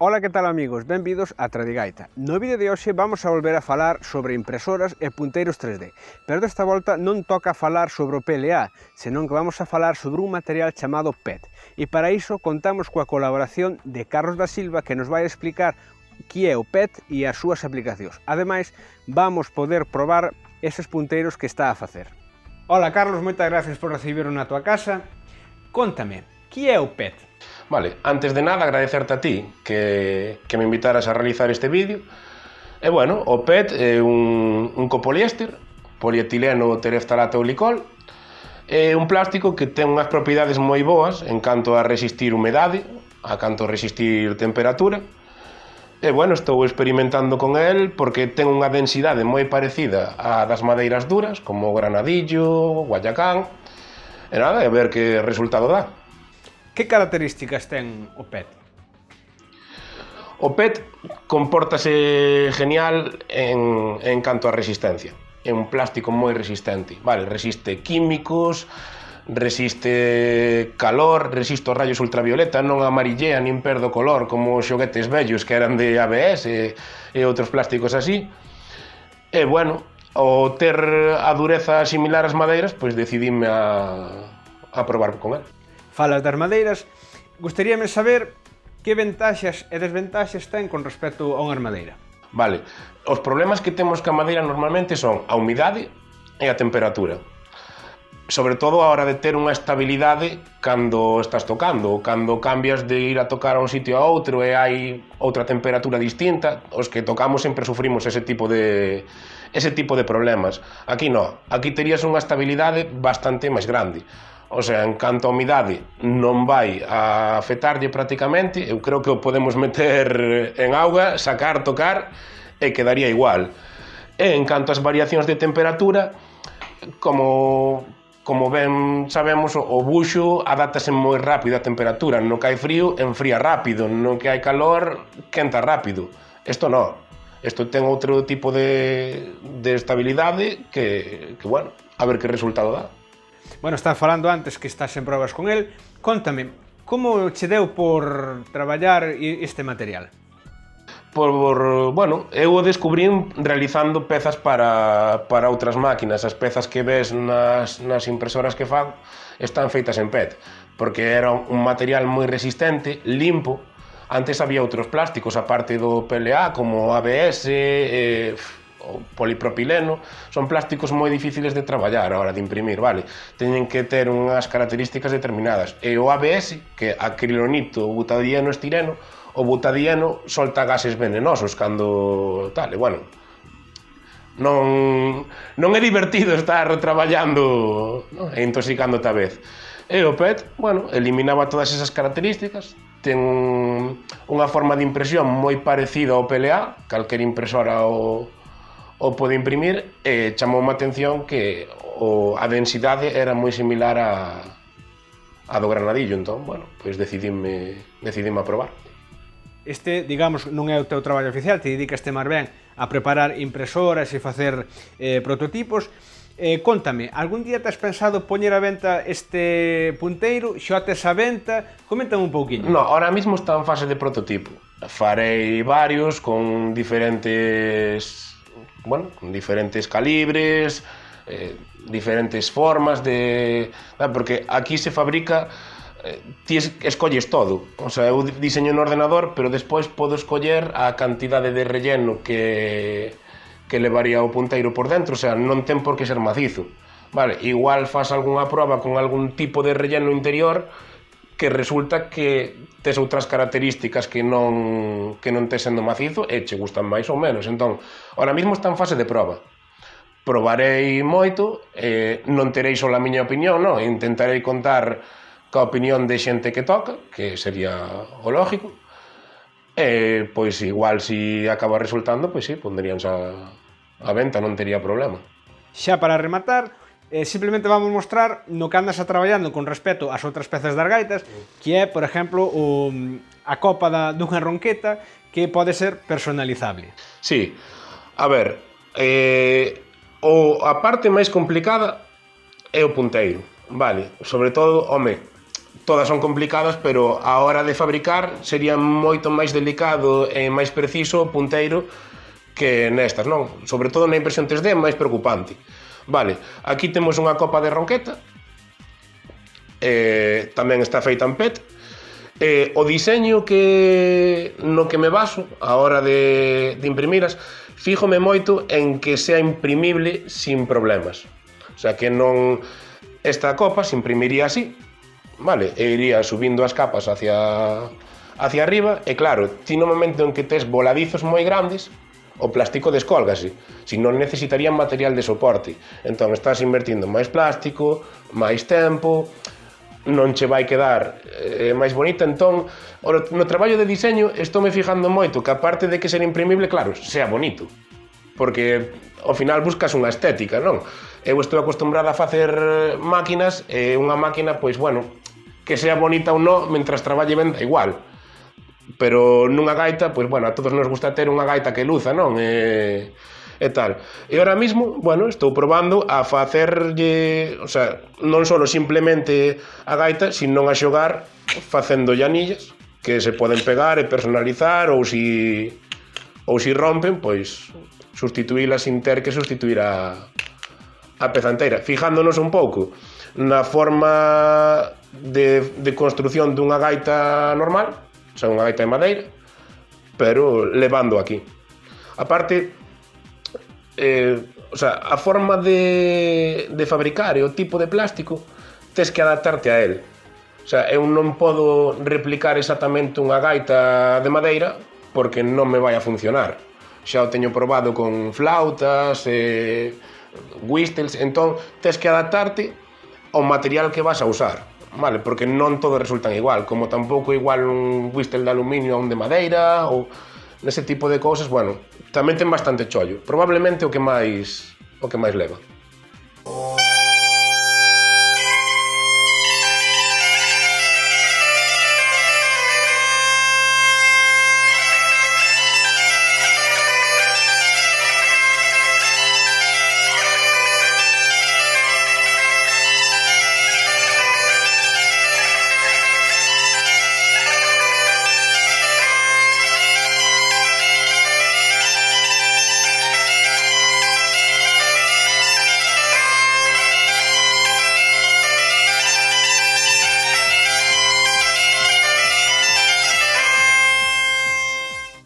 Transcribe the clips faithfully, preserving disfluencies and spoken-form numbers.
Ola, que tal amigos? Benvidos a Tradigaita. No vídeo de hoxe vamos a volver a falar sobre impresoras e punteiros tres D, pero desta volta non toca falar sobre o P L A, senón que vamos a falar sobre un material chamado P E T. E para iso contamos coa colaboración de Carlos da Silva, que nos vai explicar que é o P E T e as súas aplicacións. Ademais, vamos poder probar eses punteiros que está a facer. Ola Carlos, moitas gracias por recibirnos na tua casa. Contame, que é o P E T? Vale, antes de nada agradecerte a ti que, que me invitaras a realizar este vídeo. E bueno, o P E T é un, un copoliéster, polietileno tereftalato glicol. É un plástico que ten unhas propiedades moi boas en canto a resistir humedade, a canto a resistir temperatura. E bueno, estou experimentando con el porque ten unha densidade moi parecida á das madeiras duras, como o granadillo, o guayacán. E nada, a ver que resultado dá. Que características ten o P E T? O P E T compórtase genial en, en canto a resistencia. É un plástico moi resistente. Vale, resiste químicos, resiste calor, resiste os rayos ultravioleta, non amarillea nin perde o color como os xoguetes vellos que eran de A B S e, e outros plásticos así. E bueno, ao ter a dureza similar ás madeiras, pois decidime a, a probar con el. Falas das madeiras, gustaríame saber que ventaxas e desventaxas ten con respecto a unha madeira. Vale, os problemas que temos ca madeira normalmente son a humidade e a temperatura. Sobre todo a hora de ter unha estabilidade cando estás tocando, cando cambias de ir a tocar a un sitio a outro e hai outra temperatura distinta, os que tocamos sempre sufrimos ese tipo de ese tipo de problemas. Aquí non, aquí terías unha estabilidade bastante máis grande. O sea, en canto a humidade non vai a afectarlle prácticamente, eu creo que o podemos meter en auga, sacar, tocar e quedaría igual. E en canto ás variacións de temperatura, como, como ben sabemos, o buxo adáptase moi rápido á temperatura. No que hai frío, enfría rápido, no que hai calor, quenta rápido. Isto non. Isto ten outro tipo de, de estabilidade que, que, bueno, a ver que resultado dá. Bueno, estás falando antes que estás en probas con el. Contame, como che deu por traballar este material? Por, bueno, eu o descubrín realizando pezas para, para outras máquinas. As pezas que ves nas, nas impresoras que fago están feitas en P E T, porque era un material moi resistente, limpo. Antes había outros plásticos, aparte do P L A, como A B S, eh, o polipropileno. Son plásticos moi difíciles de traballar a hora de imprimir, vale? Teñen que ter unhas características determinadas. E o A B S, que é acrilonito, butadieno, estireno, o butadieno solta gases venenosos cando tal, e bueno, non, non é divertido estar traballando, no? E intoxicándote a vez. E o P E T, bueno, eliminaba todas esas características, ten un, unha forma de impresión moi parecida ao P L A, calquer impresora o o pode imprimir, e chamoume a atención que o, a densidade era moi similar a, a do granadillo, entón, bueno, pois decidime, decidime a probar. Este, digamos, non é o teu traballo oficial, te dedicaste máis ben a preparar impresoras e facer eh, prototipos. Eh, contame, algún día te has pensado poñer a venta este punteiro? Xa tes a venta? Coméntame un pouquiño. No, ahora mismo está en fase de prototipo. Farei varios con diferentes... bueno, con diferentes calibres, eh, diferentes formas de... porque aquí se fabrica, eh, ti escolles todo. O sea, eu diseño no ordenador, pero despois podo escoller a cantidade de relleno que, que levaría o punteiro por dentro, o sea, non ten por que ser macizo. Vale, igual faz algunha proba con algún tipo de relleno interior que resulta que tes outras características que non, que non tes sendo macizo e che gustan máis ou menos. Entón, ahora mismo está en fase de proba. Probarei moito, eh, non terei só a miña opinión, non? Intentarei contar ca opinión de xente que toca, que sería o lógico, e, pois, igual, se si acaba resultando, pois sí, pondríanse a, a venta, non tería problema. Xa para rematar, Eh, simplemente vamos mostrar no que andas a traballando con respecto ás outras pezas das gaitas, que é, por exemplo, o, a copa da, dunha ronqueta que pode ser personalizable. Sí, a ver, eh, o, a parte máis complicada é o punteiro, vale? Sobre todo, home, todas son complicadas, pero a hora de fabricar sería moito máis delicado e máis preciso o punteiro que nestas, non? Sobre todo na impresión tres D é máis preocupante. Vale, aquí temos unha copa de ronqueta, eh, tamén está feita en P E T. Eh, o diseño que no que me baso a hora de, de imprimiras, fíjome moito en que sea imprimible sin problemas. O sea, que non esta copa se imprimiría así, vale, e iría subindo as capas hacia hacia arriba, e claro, ti no momento en que tes voladizos moi grandes, o plástico descólgase, si non necesitarían material de soporte. Entón estás invertindo máis plástico, máis tempo, non che vai quedar eh, máis bonita. Entón, no traballo de diseño estou me fijando moito que, aparte de que ser imprimible, claro, sea bonito, porque ao final buscas unha estética, non? Eu estou acostumbrada a facer máquinas, e unha máquina, pois, bueno, que sea bonita ou non, mentras traballe ben, da igual. Pero nunha gaita, pois, bueno, a todos nos gusta ter unha gaita que luza, non? E, e tal. E ahora mismo, bueno, estou probando a facerlle, o sea, non só simplemente a gaita, sino a xogar facendo llanillas que se poden pegar e personalizar, ou si ou si rompen, pois sustituílas sin ter que sustituir a a peza inteira, fijándonos un pouco na forma de, de construción dunha gaita normal, o sea, unha gaita de madeira, pero levando aquí. Aparte, eh, o sea, a forma de, de fabricar e o tipo de plástico, tes que adaptarte a él. O sea, eu non podo replicar exactamente unha gaita de madeira porque non me vai a funcionar. Xa o teño probado con flautas, e whistles, entón tes que adaptarte ao material que vas a usar, vale? Porque non todos resultan igual, como tampouco igual un whistle de aluminio a un de madeira, ou nese tipo de cousas, bueno, tamén ten bastante chollo, probablemente o que máis o que máis leva.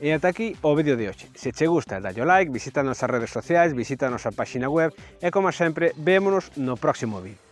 E ata aquí o vídeo de hoxe. Se che gusta, dalle o like, visita as nosas redes sociais, visita a nosa página web e, como sempre, vémonos no próximo vídeo.